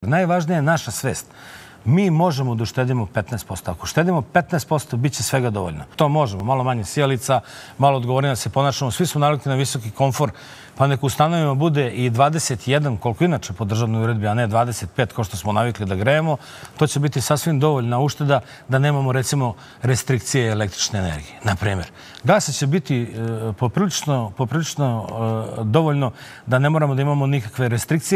Najvažnija je naša svest. Mi možemo da uštedimo 15%. Ako uštedimo 15%, bit će svega dovoljno. To možemo. Malo manje sjelica, malo odgovornije da se ponašamo. Svi smo navikli na visoki komfor, pa nek ustanovimo bude i 21, koliko inače po državnoj uredbi, a ne 25, kao što smo navikli da grejemo. To će biti sasvim dovoljna ušteda da nemamo, recimo, restrikcije električne energije. Na primjer, gasa će biti poprilično dovoljno da ne moramo da imamo nikakve restrikcije.